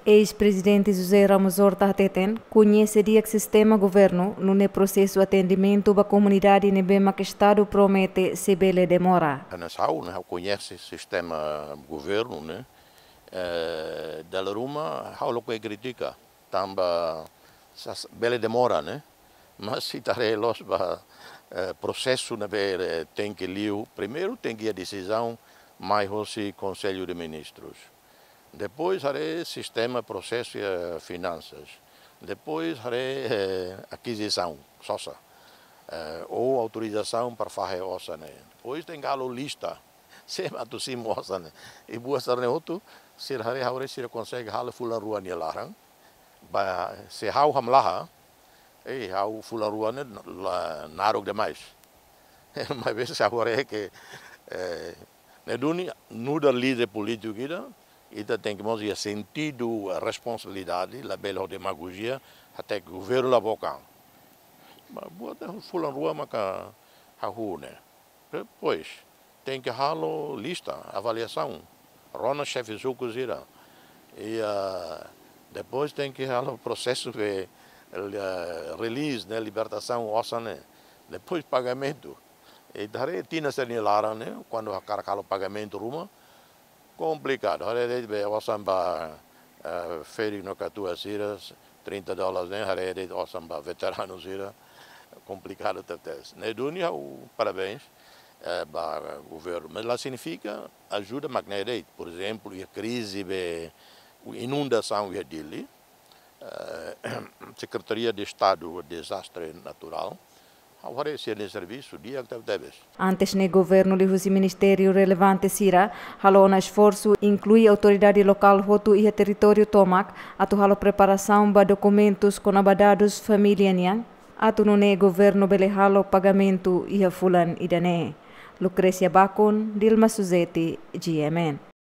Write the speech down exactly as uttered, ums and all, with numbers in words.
Eis-Prezidente José Ramos Horta hateten, koñese di'ak sistema governu, nune'e prosesu atendimentu ba komunidade ne'ebé mak Estadu promete sei bele demora. Hanesan ha'u, ne'e, ha'u koñese sistema governu, ne'e, eh, dala ruma, ha'u lakohi kritika, tanba sá, bele demora, ne'e? Mas se ita haree loos ba, eh, prosesu ne'ebé, eh, tenke liu, primeiru tenke iha desizaun mai hosi Konsellu de Ministrus. Depois haree sistema prosesu, eh, finansas. Depois haree, eh, akizisaun, sosa. Eh, ou autorizasaun para fahe osan ne'e. Depois tenke halo lista. Sé mak atu simu osan ne'e. I buat sira-ne'e hotu, sira haree ha'u haree sira konsege halo fulan rua nia laran. Ba, se ha'u hamlaha, eh, ha'u fulan rua ne'e la, naruk demais. Maibé se ha'u haree ke, eh, ne'e duni, nu'udar líder polítiku ida, ita tenke mós iha sentidu responsabilidade, labele ho demagojia, até ke governu la bokan. Mas buat ne'e fulan rua maka hahú ne'e. Depois, tenke halo lista, avaliasaun. Rona xefe suku sira. I, ah, depois tenke halo prosesu de, eh, release, ne'e, libertasaun osan ne'e. Depois pagamentu. I ita haree tinan sira-nia laran ne'e, kuandu hakarak halo pagamentu ruma, komplikadu. Haree de'it be osan ba, eh, ferik no katuas sira, trinta dólares ne'e, haree de'it osan ba veteranu sira, komplikadu tebes. Ne'e duni ha'u parabéns, eh, ba governu. Mas la signifika ajuda mak ne'e de'it. Por ezemplu, iha krize be inundasaun iha Dili, eh, Sekretaria de Estadu Dezastre Naturál, ha'u haree sira-nia servisu di'ak tebetebes. Antes ne'e governu liuhusi ministériu relevante sira halo ona esforsu, inklui autoridade lokál hotu iha territóriu tomak, atu halo preparasaun ba dokumentus kona-ba dadus família nian, atu nune'e governu bele halo pagamentu iha fulan ida-ne'e. Lucrécia Bacon, Dilma Suzeti, G M N.